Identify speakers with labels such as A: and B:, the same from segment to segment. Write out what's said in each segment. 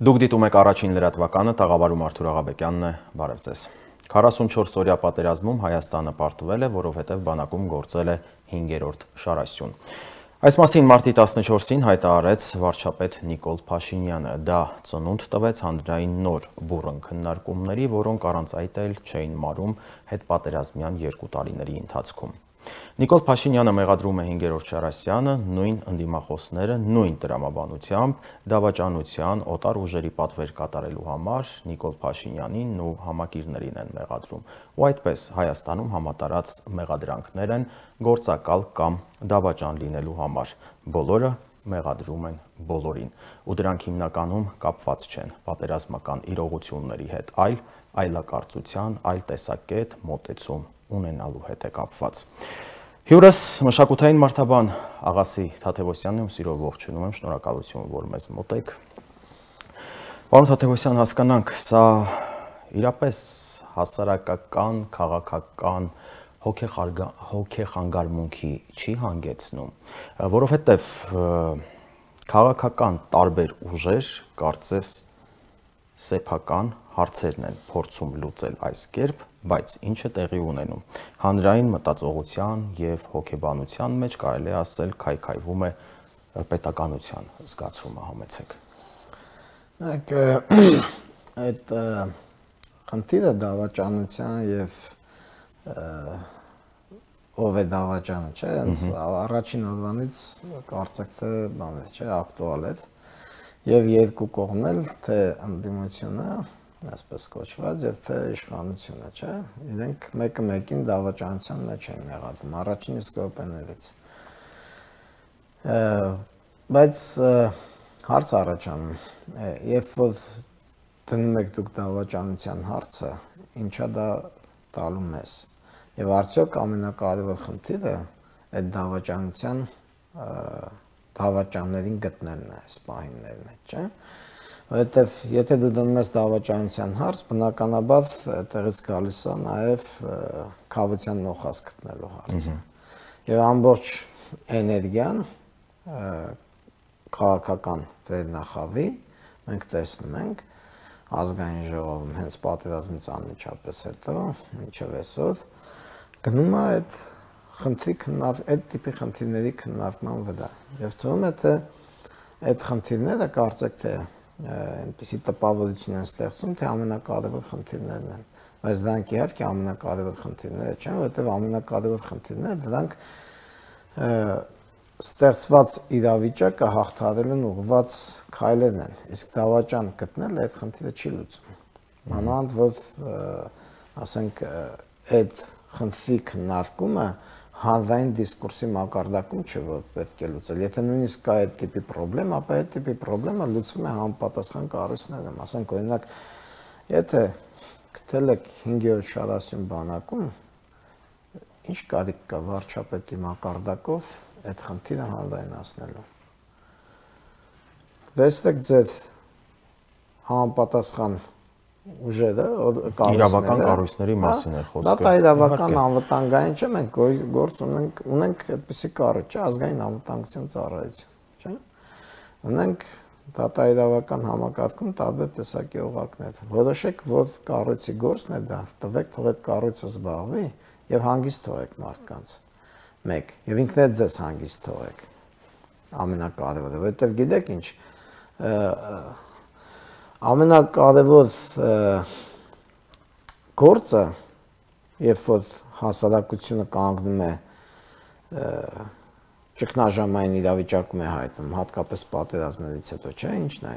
A: Դուք դիտում եք առաջին լրատվականը, տաղավարում Արթուր Աղաբեկյանն է, բարև ձեզ։ 44-օրյա պատերազմում Հայաստանը պարտվել է, որովհետև բանակում գործել է 5-րդ շարասյուն։ Այս մասին մարտի 14-ին հայտարարեց վարչապետ Նիկոլ Փաշինյանը, դա ծնունդ տվեց հանրային նոր բուռն քննարկումների, որոնք առանց այդ էլ չէին մարում հետպատերազմյան 2 տարիների ընթացքում։ Նիկոլ Փաշինյանը մեղադրում է 5-րդ շարասյանը, նույն ընդդիմախոսները, նույն տրամաբանությամբ, դավաճանության, օտար ուժերի պատվեր կատարելու համար Նիկոլ Փաշինյանին ու համակիրներին են մեղադրում, ու այդպես Հայաստանում համատարած մեղադրանքներ են գործակալ կամ դավաճան լինելու համար, բոլորը մեղադրում են բոլորին, ու դրանք հիմնականում կապված չեն պատերազմական իրողությունների հետ, այլ այլակարծության, այլ տեսակետ, մոտեցում ունենալու հետ է կապված։ Հյուրս մշակութային մարդաբան Աղասի Թադևոսյանն եմ, սիրով ողջունում եմ, շնորհակալություն, որ մեզ մոտ եք։ Պարոն Թադևոսյան, հասկանանք, սա իրապես հասարակական, քաղաքական հոգեխանգարմունքի չի հանգեցնում, որովհետև քաղաքական տարբեր ուժեր կարծես սեփական հարցերն են փորձում լուծել այս կերպ, բայց ինչ է տեղի ունենում։ Հանրային մտածողության եւ հոգեբանության մեջ կարելի է ասել քայքայվում է պետականության զգացումը, համեցեք։
B: Այդ խնդիրը դավաճանության եւ ով է դավաճանը, չէ՞, հենց առաջին օրվանից կարծեք թե բան է, չէ, ակտուալ է եւ երկու կողմն էլ թե ընդդիմությունը այսպես կոչված եւ թե իշխանությունը, չէ, իրենք մեկը մեկին դավաճանության մեջ են մեղադրում, առաջին իսկ րոպեներից։ Բայց հարց առաջանում, երբ որ դնում եք դուք դավաճանության հարցը, ինչա դա տալու մեզ։ Եվ արդյոք ամենակարևոր խնդիրը այդ դավաճանության դավաճաններին գտնելն է այս պահինների մեջ, չէ։ Որովհետև եթե դու դնում ես դավաճանության հարց, բնականաբար այդտեղից գալիս է նաև քավության նոխազ գտնելու հարցը։ Եվ ամբողջ էներգիան քաղաքական վերնախավի մենք տեսնում ենք ազգային ժողովում հենց պատերազմից անմիջապես հետո, մինչև այսօր, գնում է այդ տիպի խնդիրների քննարկման վրա։ Եվ թվում է, թե այդ խնդիրները կարծեք թե այնպիսի տպավորություն են ստեղծում, թե ամենակարևոր խնդիրներն են, բայց դրանք իհարկե ամենակարևոր խնդիրները չեն, որովհետև ամենակարևոր խնդիրները դրանք ստեղծված իրավիճակը հաղթահարելուն ուղղված քայլերն են, իսկ դավաճան գտնելը այդ խնդիրը չի լուծում։ Մանավանդ որ ասենք այդ խնդրի քննարկումը հանրային դիսկուրսի մակարդակում չէ, որ պետք է լուծել։ Եթե նույնիսկ կա այդ տիպի պրոբլեմ, ապա այդ տիպի պրոբլեմը լուծվում է համապատասխան կառույցներում։ Ասենք օրինակ, եթե գտել եք 5-րդ շարասյուն բանակում, ինչ կարիք կա վարչապետի մակարդակով այդ խնդիրը հանրայնացնելու։ Վստահ ձեր համապատասխան ուժերը,
A: իրավական կառույցների մասին է խոսքը։
B: Դա իրավական անվտանգային չէ, մենք գործ ունենք այդպիսի կառույց, չէ, ազգային անվտանգության ծառայություն, չէ։ Ունենք դատաիրավական համակարգում տարբեր տեսակի օղակներ։ Որոշեք, որ կառույցի գործն է դա, տվեք, թող այդ կառույցը զբաղվի եւ հանգիստ թողեք մարդկանց։ Մեկ, եւ ինքներդ ձեզ հանգիստ թողեք։ Ամենակարևորը, որովհետեւ գիտեք ինչ, ամենակարևոր գործը, երբ որ հասարակությունը կանգնում է ճգնաժամային իրավիճակում է հայտնում, հատկապես պատերազմներից հետո, չէ, ինչն է,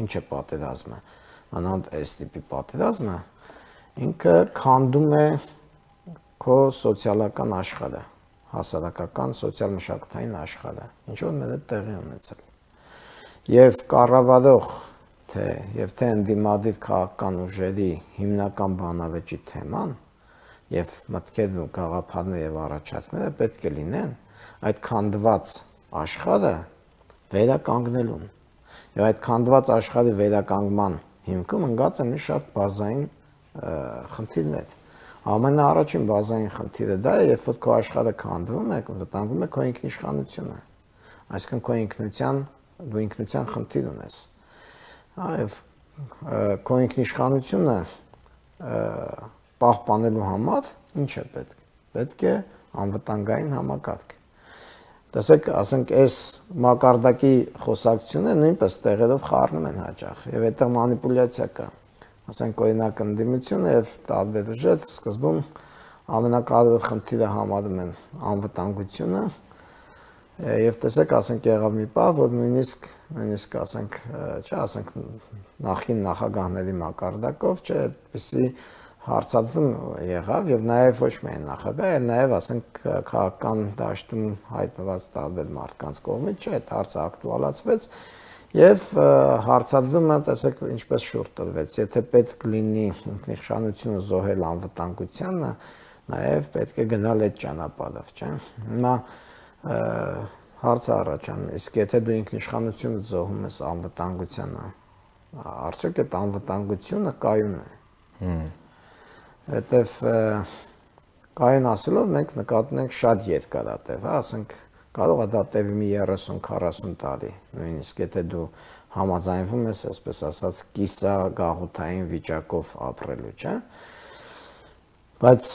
B: ինչ է պատերազմը, մանավանդ այս տիպի պատերազմը, ինքը քանդում է քո սոցիալական աշխարհը, հասարակական, սոցիալ-մշակութային աշխարհը, ինչ որ մեր հետ տեղի ունեցել։ Եվ կառավարող եւ թե ընդդիմադիր քաղաքական ուժերի հիմնական բանավեճի թեման եւ մտքերն ու գաղափարները եւ առաջարկները պետք է լինեն այդ քանդված աշխարհը վերականգնելուն։ Եվ այդ քանդված աշխարհի վերականգնման հիմքում ընկած են մի շարք բազային խնդիրներ։ Ամենաառաջին բազային խնդիրը դա է, երբ որ քո աշխարհը քանդվում է, վտանգում է քո ինքնիշխանությունը։ Այսինքն քո դու ինքնության խնդիր ունես։ Այո, քո ինքնիշխանությունը պահպանելու համար ինչ է պետք։ Պետք է անվտանգային համակարգ։ Տեսեք, ասենք, այս մակարդակի խոսակցությունը նույնպես տեղերով խառնում են հաճախ, եւ այդտեղ մանիպուլյացիա կա։ Ասենք, օրինակ, ընդդիմությունը եւ տարբեր ուժեր սկզբում ամենակարևոր խնդիրը համարում են անվտանգությունը, եւ տեսեք, ասենք, եղավ մի պահ, որ նույնիսկ ասենք, չէ, ասենք, նախին նախագահների մակարդակով, չէ, այդպիսի հարցադրում եղավ եւ նաեւ ոչ միայն նախագահ, այլ նաեւ ասենք քաղաքական դաշտում հայտնված տարբեր մարդկանց կողմից, չէ, այդ հարցը ակտուալացվեց եւ հարցադրումը տեսեք ինչպես շուրջ տրվեց, եթե պետք լինի ինքնիշխանությունը զոհել անվտանգությանը, նաեւ պետք է գնալ այդ ճանապարհով, չէ։ Հիմա հարցը առաջանում, իսկ եթե դու ինքնիշխանությունը զոհում ես անվտանգությանը, արդյոք այդ անվտանգությունը կայուն է։ Հետև կայուն ասելով մենք նկատում ենք շատ երկարատև, ասենք կարող է դա տևի մի 30-40 տարի, նույնիսկ եթե դու համաձայնվում ես, այսպես ասած, կիսագաղութային վիճակով ապրելու, չէ։ Բայց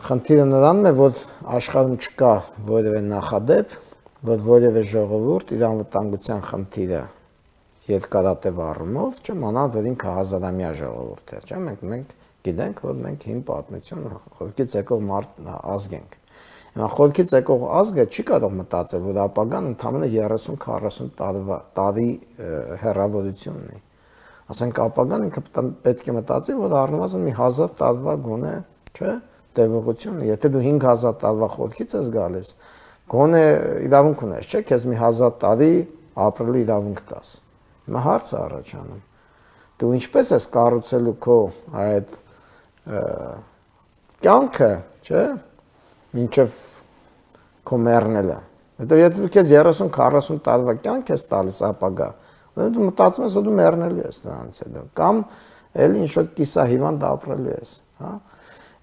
B: խնդիրը նրանում է, որ աշխարհում չկա որևէ նախադեպ, որ որևէ ժողովուրդ իր անվտանգության խնդիրը երկարատև առումով, չէ, մանավանդ որ ինքը հազարամյա ժողովուրդ է, չէ, մենք գիտենք, որ մենք հին պատմություն խորքից եկող ազգ ենք։ Հիմա խորքից եկող ազգը չի կարող մտածել, որ ապագան ընդամենը 30-40 տարի հեռավորություն ունի։ Ասենք ապագան ինքը պետք է մտածի, որ առնվազն մի 1000 տարվա գոնե, չէ, տևողություն ունի։ Եթե դու 5000 տարվա խորքից ես գալիս, գոնե իրավունք ունես, չէ, քեզ մի 1000 տարի ապրելու իրավունք տաս։ Հիմա հարցը առաջանում։ Դու ինչպես ես կառուցելու քո այդ կյանքը, չէ, մինչև քո մեռնելը։ Հետո եթե դու քեզ 30-40 տարվա կյանք ես տալիս ապագա, դու մտածում ես, որ դու մեռնելու ես դրանից հետո, կամ էլի ինչ-որ կիսահիվանդ ապրելու ես, հա։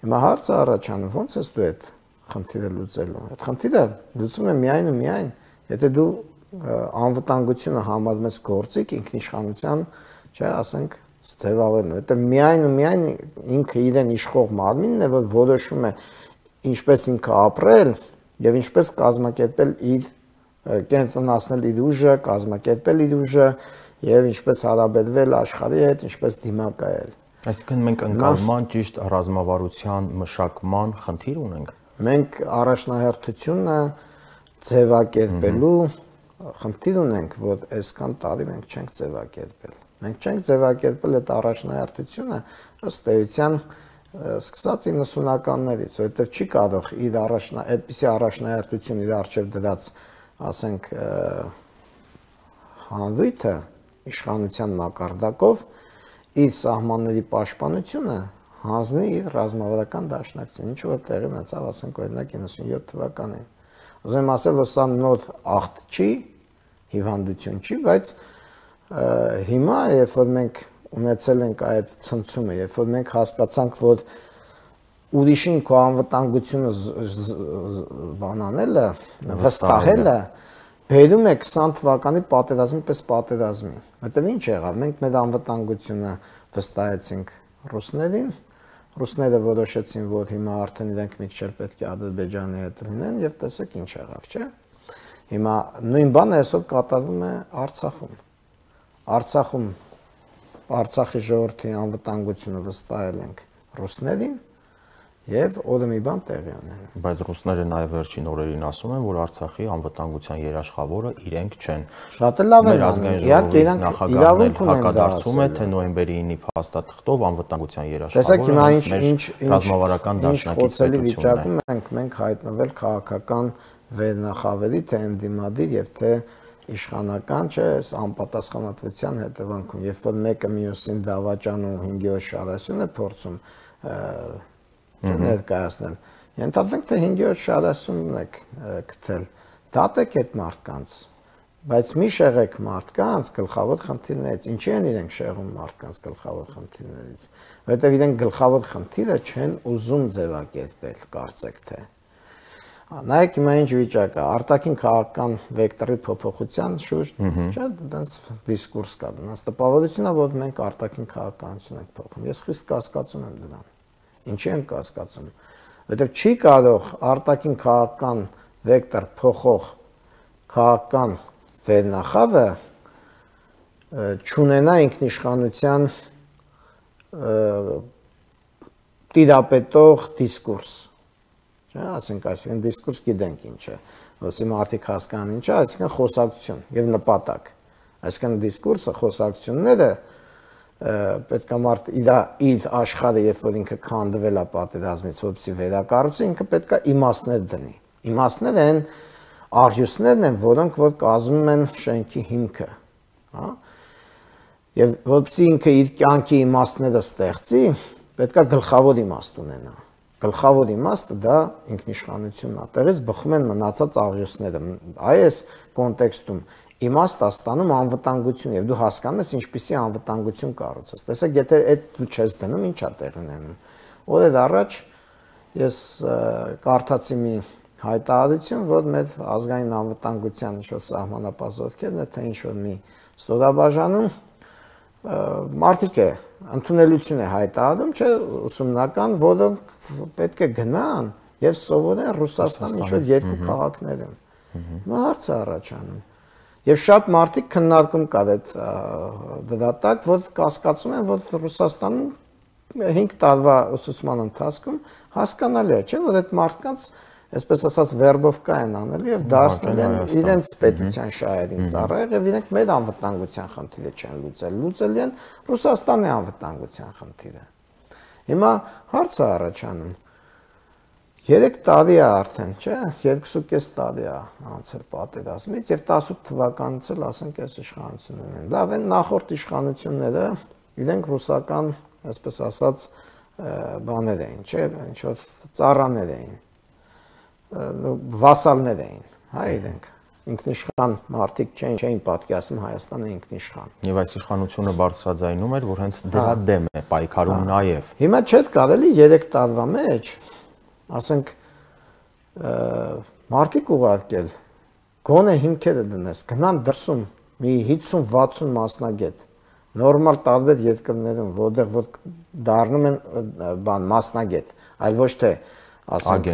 B: Հիմա հարցը առաջանում, ո՞նց ես դու այդ խնդիրը լուծելու։ Այդ խնդիրը լուծում է միայն ու միայն, եթե դու անվտանգությունը համարում ես գործիք ինքնիշխանության, չէ, ասենք ձևավորն, որտեղ միայն ու միայն ինքը իրեն իշխող մարմինն է, որ որոշում է ինչպես ինքը ապրել եւ ինչպես կազմակերպել իր կենտրոնացնել իր ուժը, կազմակերպել իր ուժը եւ ինչպես հարաբերվել աշխարհի հետ, ինչպես դիմակայել։
A: Այսինքն մենք ընկալման ճիշտ ռազմավարության մշակման խնդիր ունենք։
B: Մենք առաջնահերթությունը ձևակերպելու խնդիր ունենք, որ այսքան տարի մենք չենք ձևակերպել։ Մենք չենք ձևակերպել այդ առաջնահերթությունը ըստ էության սկսած 90-ականներից, որովհետև չի կարող իր այդպիսի առաջնահերթություն իր առջև դրած, ասենք, հանրույթը իշխանության մակարդակով իր սահմանների պաշտպանությունը հանձնի իր ռազմավարական դաշնակցին, ինչ որ տեղի ունեցավ, ասենք, օրինակ 97 թվականին։ Ուզում եմ ասել, որ սա նոր ախտ չի, հիվանդություն չի, բայց հիմա, երբ որ մենք ունեցել ենք այդ ցնցումը, երբ որ մենք հասկացանք, որ ուրիշին քո անվտանգությունը բանանելը, վստահելը բերում է 20 թվականի պատերազմի պես պատերազմի։ Որտեւ ինչ եղավ, մենք մեր անվտանգությունը վստահեցինք ռուսներին, ռուսները որոշեցին, որ հիմա արդեն իրենք մի քիչ պետք է Ադրբեջանի հետ լինեն եւ տեսեք ինչ եղավ, չէ՞։ Հիմա նույն բանը այսօր կատարվում է Արցախում։ Արցախի ժողովրդի անվտանգությունը վստահել ենք ռուսներին եւ օրը մի բան տեղի ունենում։
A: Բայց ռուսները նաեւ վերջին օրերին ասում են, որ Արցախի անվտանգության երաշխավորը իրենք չեն։
B: Շատ լավ է, իհարկե իրանք իրավունք ունեն
A: հակադարձում է, թե նոյեմբերի 9-ի փաստաթղթով անվտանգության երաշխավորը։
B: Տեսեք հիմա ինչ
A: ռազմավարական դաշնակիցություն
B: վիճակում ենք հայտնվել քաղաքական վերնախավերի, թե ընդդիմադիր եւ թե իշխանական, չէ, անպատասխանատվության հետևանքում, երբ որ մեկը մյուսին դավաճանում 5-րդ շարասյուն է փորձում ներկայացնել, ենթադրենք թե 5-րդ շարասյունն եք գտել, դատեք այդ մարդկանց, բայց մի շեղեք մարդկանց գլխավոր խնդիրներից, ինչի են իրենք շեղում մարդկանց գլխավոր խնդիրներից, որովհետև իրենք գլխավոր խնդիրը չեն ուզում ձևակերպել, կարծեք թե։ Նայեք հիմա ինչ վիճակ է, արտաքին քաղաքական վեկտորի փոփոխության շուրջ, չէ՞, դրանց դիսկուրս կա, դրանց տպավորությունն է, որ մենք արտաքին քաղաքականություն ենք փոխում։ Ես խիստ կասկածում եմ դրան։ Ինչի եմ կասկածում։ Որովհետև չի կարող արտաքին քաղաքական վեկտոր փոխող քաղաքական վերնախավը չունենա ինքնիշխանության տիրապետող դիսկուրս։ Չէ՞, ասենք այսինքն դիսկուրս գիտենք ինչ է, ոսի մարդիկ հասկանան ինչ է, այսինքն խոսակցություն եւ նպատակ։ Այսինքն դիսկուրսը, խոսակցությունները պետք է մարդ իր աշխարհը, երբ որ ինքը քանդվել է պատերազմից, որպեսզի վերակառուցի, ինքը պետք է իմաստներ դնի։ Իմաստները են աղյուսներն են, որոնք որ կազմում են շենքի հիմքը, հա։ Եվ որպեսզի ինքը իր կյանքի իմաստները ստեղծի, պետք է գլխավոր իմաստ ունենա։ Գլխավոր իմաստը դա ինքնիշխանությունն է։ Տեղից բխում են մնացած աղյուսները։ Այս կոնտեքստում իմաստը ստանում անվտանգություն եւ դու հասկանում ես ինչպիսի անվտանգություն կառուցես։ Տեսեք, եթե այդ դու չես դնում, ի՞նչ է տեղի ունենում։ Օրեր առաջ ես կարդացի մի հայտարարություն, որ մեր ազգային անվտանգության ինչ-որ սահմանապահ թե ինչ-որ մի ստորաբաժանում մարդիկ է ընդունելություն է հայտարարում, չէ, ուսումնական, որոնք պետք է գնան եւ սովորեն Ռուսաստանի ինչ-որ երկու քաղաքներում։ Հիմա հարց է առաջանում։ Եվ շատ մարդիկ քննարկում կար այդ դրա տակ, որ կասկածում են, որ Ռուսաստանում 5 տարվա ուսուցման ընթացքում հասկանալի է, չէ, որ այդ մարդկանց, այսպես ասած, վերբովկա են անել եւ դարձնել են իրենց պետության շահերին ծառայել եւ իրենք մեր անվտանգության խնդիրը չեն լուծել, լուծել են Ռուսաստանի անվտանգության խնդիրը։ Հիմա հարց է առաջանում 3 տարի է արդեն, չէ, 2.5 տարի է անցել պատերազմից եւ 18 թվականից էլ ասենք այս իշխանությունն են։ Լավ են նախորդ իշխանությունները, իրենք ռուսական, այսպես ասած, բաներ էին, չէ, ինչ որ ծառաներ էին, վասալներ էին, հա, իրենք ինքնիշխան մարդիկ չէին պատկերացնում Հայաստանը ինքնիշխան։
A: Եվ այս իշխանությունը բարձրաձայնում էր, որ հենց դրա դեմ է պայքարում նաեւ։
B: Հիմա չէ կարելի 3 տարվա մեջ ասենք մարդիկ ուղարկել, գոնե հիմքերը դնես, գնան դրսում մի 50-60 մասնագետ, նորմալ տարբեր երկրներում, որտեղ որ դառնում են բան մասնագետ, այլ ոչ թե ասենք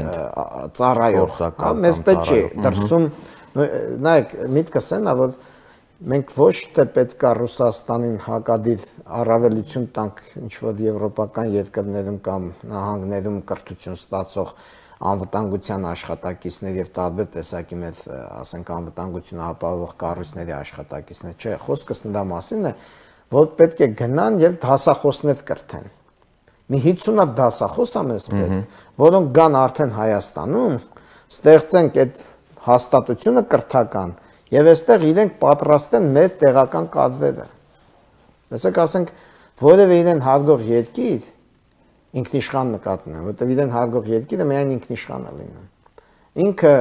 B: ծառայող, մեզ պետք չի դրսում, նայեք, միտքս են, որ մենք ոչ թե պետք է Ռուսաստանին հակադիր առավելություն տանք ինչ-որ եվրոպական երկրներում կամ նահանգներում կրթություն ստացող անվտանգության աշխատակիցներ եւ տարբեր տեսակի մեծ, ասենք, անվտանգությունը ապահովող կառույցների աշխատակիցներ, չէ, խոսքս նրա մասին է, որ պետք է գնան եւ դասախոսներ կրթեն։ Մի 50 դասախոս է մեզ պետք, որոնք գան արդեն Հայաստանում, ստեղծենք այդ հաստատությունը կրթական եւ այստեղ իրենք պատրաստեն մեր տեղական կadrերը։ Տեսեք, ասենք, որևէ իրեն հարգող երկիր ինքնիշխան նկատն է, որտեղ իրեն հարգող երկիրը միայն ինքնիշխան է լինում։ Ինքը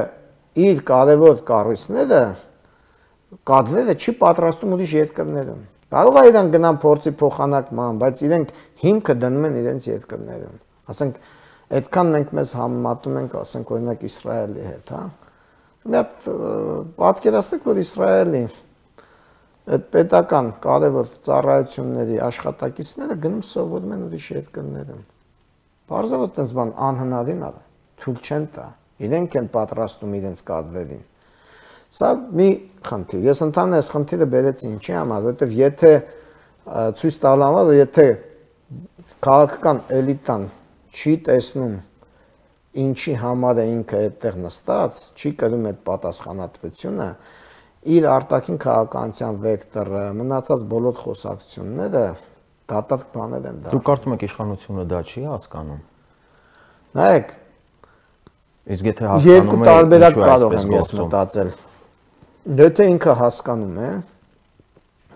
B: իր կարևոր կառույցները կadrերը չի պատրաստում ուրիշ երկրներում։ Կարող է իրեն գնան փորձի փոխանակման, բայց իրենք հիմքը դնում են իրենց երկրներում։ Ասենք, այդքան մենք մեզ համեմատում ենք, ասենք, օրինակ Իսրայելի հետ, հա։ Մի հատ պատկերացնեք, որ Իսրայելի այդ պետական կարևոր ծառայությունների աշխատակիցները գնում սովորում են ուրիշ երկրներում։ Բարձր որ տես բան անհնարին է, թույլ չեն տա։ Իրենք են պատրաստում իրենց կadrերին։ Սա մի խնդիր։ Ես ընդհանրապես այս խնդիրը բերեցի ինչի համար, որովհետև եթե ցույց տալու համար, եթե քաղաքական էլիտան չի տեսնում ինչի համար է ինքը այդտեղ նստած, չի կրում այդ պատասխանատվությունը, իր արտաքին քաղաքականության վեկտորը, մնացած բոլոր խոսակցությունները դատարկ բաներ են դարձել։
A: Դուք կարծում եք իշխանությունը դա չի հասկանում։
B: Նայեք,
A: իսկ եթե հասկանում է,
B: տարբերակ կարող եմ ես մտածել։ Եթե ինքը հասկանում է,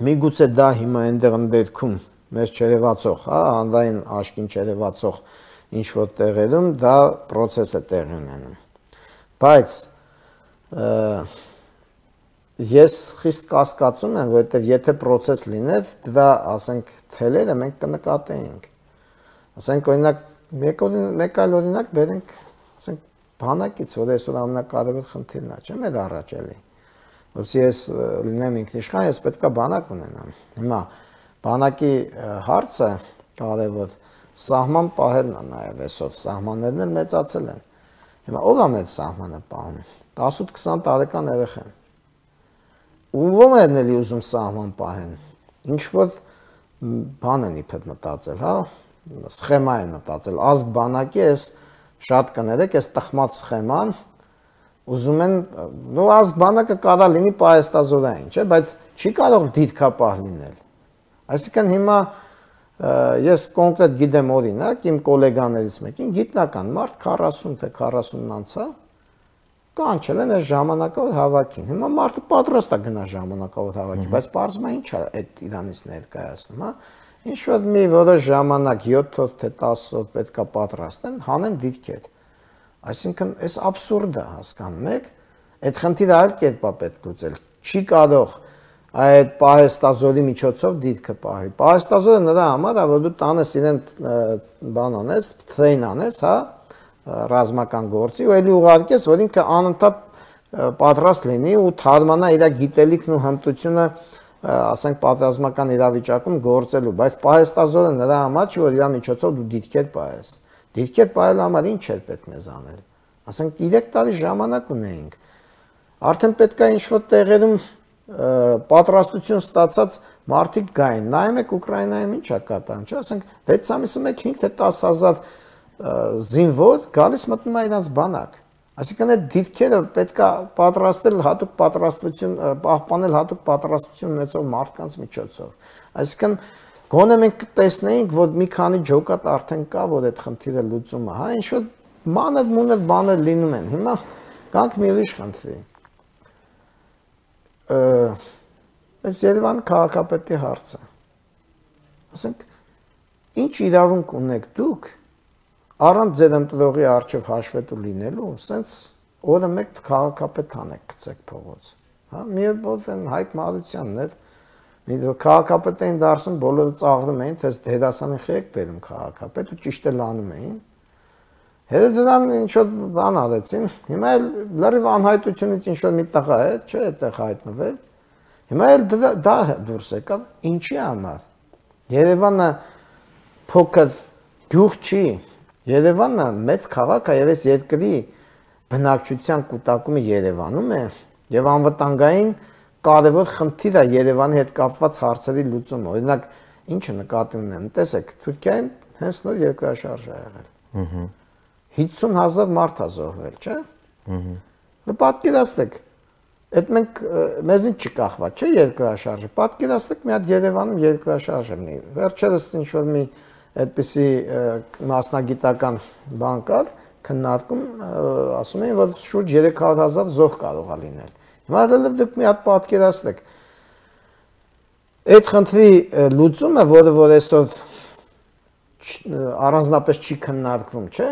B: միգուցե դա հիմա այնտեղ ընդդերքում մեզ չերևացող, հա, հանրային աշկին չերևացող ինչ-որ տեղերում դա process է տեղի ունենում։ Բայց ես խիստ կասկածում եմ, որովհետև եթե process լիներ, դա, ասենք, թելերը մենք կնկատեինք։ Ասենք, օրինակ, մեկ այլ օրինակ բերենք, ասենք, բանակից, որ այսօր ամենակարևոր խնդիրն է, չեմ էլ առաջ էլի։ Որովհետեւ ես լինեմ ինքնիշխան, ես պետք է բանակ ունենամ։ Հիմա բանակի հարցը կարևոր սահման պահելն է նաև այսօր, սահմաններն էլ մեծացել են։ Հիմա ով է մեծ սահմանը պահում։ 18-20 տարեկան երեխան։ Ում են էլի ուզում սահման պահեն։ Ինչ որ բան են իբր մտածել, հա, սխեմա են մտածել, ազգ բանակի էս շատ կներեք, էս տխմած սխեման ուզում են, նո ազգ բանակը կարա լինի պահեստազորային, չէ, բայց չի կարող դիրքապահ լինել։ Այսինքն հիմա ես կոնկրետ գիտեմ օրինակ, իմ գոլեգաներից մեկին գիտնական մարդ 40 թե 40-ն անցա, կանչել են այս ժամանակավոր հավաքին։ Հիմա մարդը պատրաստ է գնա ժամանակավոր հավաքի, բայց պարզվում է ինչ է այդ իրանից ներկայացնում, հա։ Ինչ որ մի որոշ ժամանակ 7 օր թե 10 օր պետքա պատրաստեն, հանեն դիրքեր։ Այսինքն այս абսուրդ է, հասկանում եք, այդ խնդիրը այլ կերպ է պետք լուծել։ Չի կարող այդ պահեստազորի միջոցով դիրքը պահի։ Պահեստազորը նրա համար է, որ դու տանես իրեն բան անես, train անես, հա, ռազմական գործի, ու էլի ուղարկես, որ ինքը անընդհատ պատրաստ լինի ու թարմանա իր գիտելիքն ու հմտությունը, ասենք պատերազմական իրավիճակում գործելու, բայց պահեստազորը նրա համար չի, որ իր միջոցով դու դիրքեր պահես։ Դիրքեր պահելու համար ինչ էր պետք մեզ անել։ Ասենք 3 տարի ժամանակ ունեինք։ Արդեն պետք է ինչ-որ տեղերում պատրաստություն ստացած մարդիկ գային։ Նայում եք Ուկրաինայում ինչ է կատարում, չէ՞, ասենք 6 ամիսը մեկ 5 թե 10,000 զինվոր գալիս մտնում է իրենց բանակ։ Այսինքն այդ դիրքերը պետք է պատրաստել հատուկ պատրաստություն, պահպանել հատուկ պատրաստություն ունեցող մարդկանց միջոցով։ Այսինքն գոնե մենք տեսնեինք, որ մի քանի ջոկատ արդեն կա, որ այդ խնդիրը լուծում է, հա, ինչ որ մանր բաներ լինում են։ Հիմա կանք մի ուրիշ խնդրի։ Այս Երևան քաղաքապետի հարցը։ Ասենք ինչ իրավունք ունեք դուք առանց ձեր ընտրողի արչև հաշվետու լինելու, սենց օրը մեկ քաղաքապետ հանեք գցեք փողոց։ Հա, մի ոց են Հայկ Մարությանն էր, մի քաղաքապետ էին դարձում, բոլորը ծաղրում էին, թե դերասանի խեք բերում քաղաքապետ ու ճիշտ էլ անում էին։ Հետո դրան ինչ որ բան արեցին, հիմա էլ լրիվ անհայտությունից ինչ որ մի տղա է, չէ, այդտեղ հայտնվել։ Հիմա էլ դա դուրս եկավ, ինչի համար։ Երևանը փոքր գյուղ չի, Երևանը մեծ քաղաք է եւ այս երկրի բնակչության կուտակումը Երևանում է եւ անվտանգային կարևոր խնդիր է Երևանի հետ կապված հարցերի լուծումը։ Օրինակ, ինչը նկատի ունեմ, տեսեք, Թուրքիայում հենց նոր երկրաշարժ է եղել։ 50,000 մարդ է զոհվել, չէ՞։ Պատկերացրեք, այդ մենք մեզնից չկախված, չէ՞ երկրաշարժը։ Պատկերացրեք մի հատ Երևանում երկրաշարժ լինի։ Վերջերս ինչ որ մի այդպիսի մասնագիտական բան կար, քննարկում, ասում էին, որ շուրջ 300,000 զոհ կարող է լինել։ Հիմա դուք մի հատ պատկերացրեք։ Այդ խնդրի լուծումը, որը այսօր առանձնապես չի քննարկվում, չէ՞։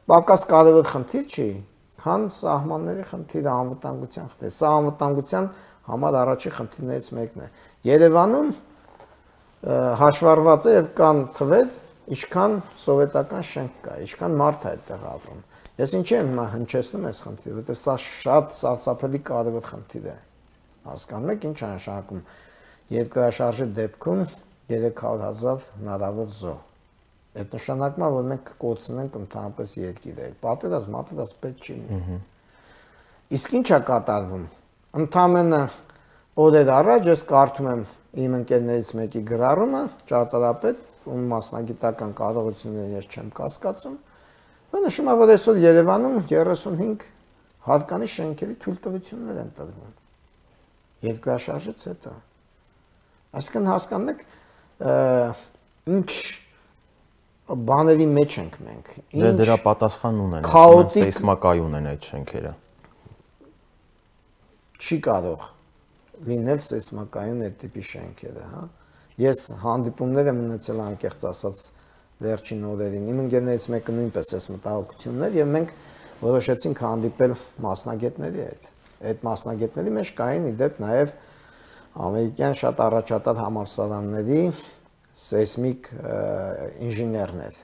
B: Պակաս կարևոր խնդիր չի, քան սահմանների խնդիրը, անվտանգության խնդիրը։ Սա անվտանգության համար առաջին խնդիրներից մեկն է։ Երևանում հաշվառված է եւ կան թվեր, ինչքան սովետական շենք կա, ինչքան մարդ է այդտեղ ապրում։ Ես ինչի եմ հիմա հնչեցնում այս խնդիրը, որովհետեւ սա շատ սարսափելի կարևոր խնդիր է։ Հասկանում եք ինչ է նշանակում երկրաշարժի դեպքում 300,000 հնարավոր զոհ։ Այդ նշանակում է, որ մենք կկորցնենք ընդհանրապես երկիրը։ Պատերազմ պետք չի լինի։ Իսկ ինչ է կատարվում։ Ընդամենը օրեր առաջ ես կարդում եմ իմ ընկերներից մեկի գրառումը, ճարտարապետ, ում մասնագիտական կարողությունները ես չեմ կասկածում, ու նշում է, որ այսօր Երևանում 35 հատկանիշ շենքերի թույլտվություններ են տրվում։ Երկրաշարժից հետո։ Այսինքն հասկանում եք, ինչ բաների մեջ ենք մենք։
A: Դրա պատասխան ունեն, ասում են սեյսմակայուն են այդ շենքերը։
B: Չի կարող լինել սեյսմակայուն այդ տիպի շենքերը, հա։ Ես հանդիպումներ եմ ունեցել անկեղծ ասած վերջին օրերին։ Իմ ընկերներից մեկը նույնպես էս մտահոգությունն էր եւ մենք որոշեցինք հանդիպել մասնագետների հետ։ Այդ մասնագետների մեջ կային իդեպ նաեւ ամերիկյան շատ առաջատար համալսարանների սեյսմիկ ինժեներներ։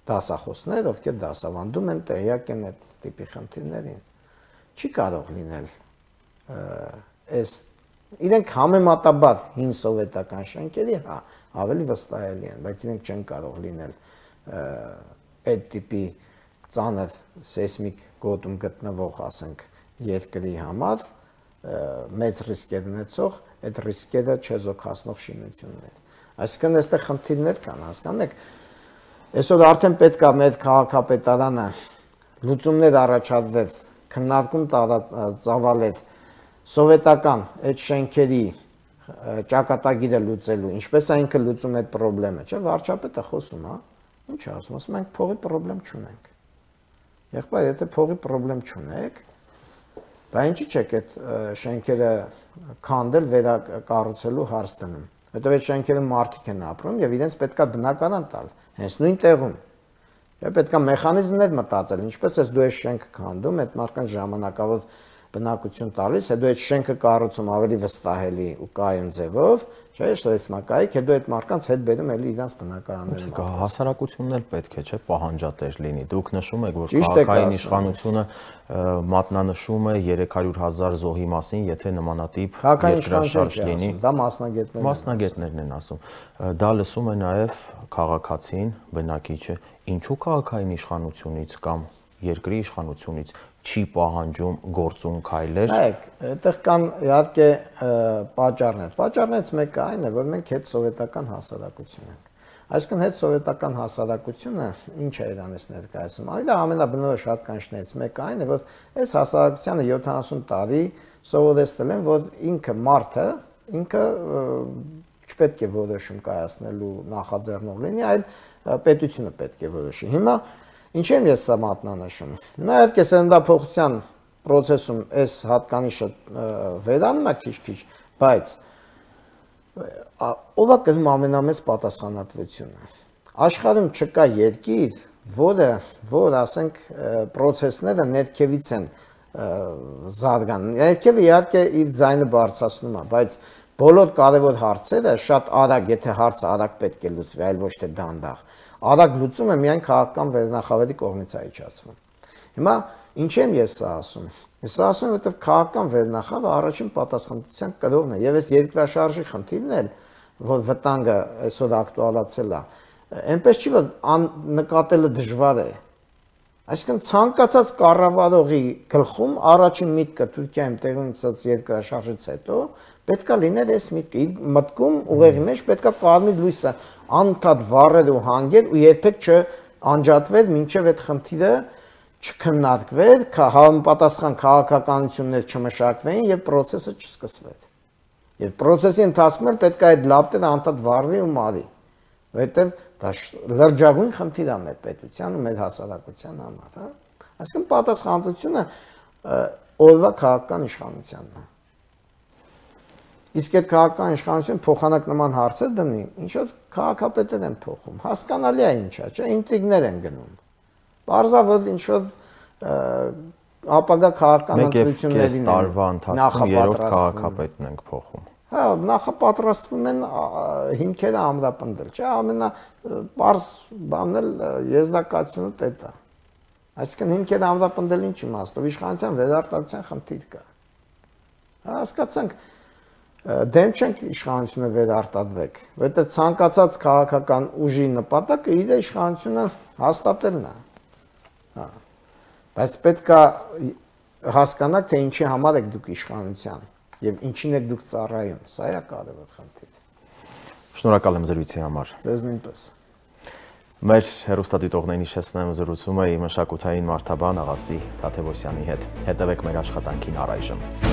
B: դասախոսներ, ովքեր դասավանդում են, տեղյակ են այդ տիպի խնդիրներին։ Չի կարող լինել այս իրենք համեմատաբար հին սովետական շենքերի ավելի վստահելի են, բայց իրենք չեն կարող լինել այդ տիպի ծանր սեյսմիկ գոտում գտնվող, ասենք, երկրի համար մեծ ռիսկեր ունեցող, այդ ռիսկերը չեզոքացնող շինություններ։ Այսինքն այստեղ խնդիրներ կան, հասկանու եք, այսօր արդեն պետք է մեր քաղաքապետարանը լուծումներ առաջադրել, քննարկում ծավալել սովետական այդ շենքերի ճակատագիրը լուծելու, ինչպես է ինքը լուծում այդ խնդրեմը, չէ՞, վարչապետը խոսում, հա, ինչ է ասում, ասում ենք փողի խնդրեմ չունենք։ Եղբայր, եթե փողի խնդրեմ չունեք, բա ինչի՞ չեք այդ շենքերը քանդել, վերակառուցելու հարց դնում։ Հետո այդ շենքերը մարդիկ են ապրում եւ իրենց պետքա բնակարան տալ, հենց նույն տեղում։ Եվ պետքա մեխանիզմներ մտածել, ինչպես ես դու այս շենքը քանդում, այդ մարդկանց ժամանակավոր բնակություն տալիս, հետո այդ շենքը կառուցում ավելի վստահելի ու կայուն ձևով, չէ՞, շտեսմակայիկ, հետո այդ մարդկանց հետ բերում էլի իրանց բնակարանները։
A: Հասարակությունն էլ պետք է, չէ՞, պահանջատեր լինի։ Դուք նշում եք, որ քաղաքային իշխանությունը մատնանշում է 300,000 զոհի մասին, եթե նմանատիպ երկրաշարժ լինի։
B: Դա մասնագետներն
A: են ասում։ Դա լսում է նաև քաղաքացին, բնակիչը, ինչու քաղաքային իշխանությունից կամ երկրի իշխանությունից չի պահանջում գործուն քայլեր։
B: Նայեք, այդտեղ կան իհարկե պատճառներ։ Պատճառներից մեկը այն է, որ մենք հետ սովետական հասարակություն ենք։ Այսինքն հետ սովետական հասարակությունը ինչ է իրանից ներկայացնում։ Այդ ամենաբնորոշ հատկանիշներից մեկը այն է, որ այս հասարակությանը 70 տարի սովորեցնել են, որ ինքը մարդը, ինքը չպետք է որոշում կայացնելու նախաձեռնող լինի, այլ պետությունը պետք է որոշի։ Հիմա ինչ եմ ես սա մատնանշում։ Հիմա իհարկե սննդափոխության process-ում այս հատկանիշը վերանում է քիչ-քիչ, բայց ով է կրում ամենամեծ պատասխանատվությունը։ Աշխարհում չկա երկիր, որ ասենք process-ները ներքևից են զարգանում։ Ներքևը իհարկե իր ձայնը բարձրացնում է, բայց բոլոր կարևոր հարցերը շատ արագ, եթե հարցը արագ պետք է լուծվի, այլ ոչ թե դանդաղ։ Արագ լուծումը միայն քաղաքական վերնախավերի կողմից է իջացվում։ Հիմա ինչ եմ ես սա ասում։ Ես ասում եմ, որովհետև քաղաքական վերնախավը առաջին պատասխանատվության կրողն է, եւ այս երկրաշարժի խնդիրն էլ, որ վտանգը այսօր ակտուալացել է, այնպես չի, որ նկատելը դժվար է։ Այսինքն ցանկացած կառավարողի գլխում առաջին միտքը Թուրքիայում տեղի ունեցած երկրաշարժից հետո պետքա լիներ այս միտքը, իր մտքում ուղեղի մեջ պետքա կարմիր լույսը անընդհատ վառեր ու հանգեր ու երբեք չանջատվեր, մինչև այդ խնդիրը չքննարկվեր, համապատասխան քաղաքականություններ չմշակվեին եւ process-ը չսկսվեր։ Եվ process-ի ընթացքում էլ պետքա այդ լապտերը անընդհատ վառվի ու մարի, որովհետեւ դա լրջագույն խնդիր է մեր պետության ու մեր հասարակության համար, հա։ Այսինքն պատասխանատվությունը օրվա քաղաքական իշխանությանն է։ Իսկ այդ քաղաքական իշխանությունը փոխանակ նման հարցեր դնի, ինչ որ քաղաքապետեր են փոխում։ Հասկանալի է ինչա, չէ՞, ինտրիգներ են գնում։ Բարձա որ ինչ որ ապագա քաղաքական ընտրություններին
A: տարվա ընթացքում երրորդ քաղաքապետն ենք փոխում։
B: Հա, նախապատրաստվում են հիմքերը ամրապնդել, չէ՞, ամենապարզ բանն էլ եզրակացությունը դա է։ Այսինքն հիմքերը ամրապնդել ինչ իմաստով, իշխանության վերարտադրության խնդիր կա։ Հասկացանք, դեմ չենք իշխանությունը վերարտադրեք, որովհետև ցանկացած քաղաքական ուժի նպատակը իր իշխանությունը հաստատելն է։ Հա։ Բայց պետք է հասկանաք, թե ինչի համար եք դուք իշխանության եւ ինչին եք դուք ծառայում, սա է կարևոր խնդիր։
A: Շնորհակալ եմ զրույցի համար։
B: Ձեզ նույնպես։
A: Մեր հեռուստադիտողներին հիշեցնեմ, զրուցում էի մշակութային մարդաբան Աղասի Թադևոսյանի հետ։ Հետևեք մեր աշխատանքին առայժմ։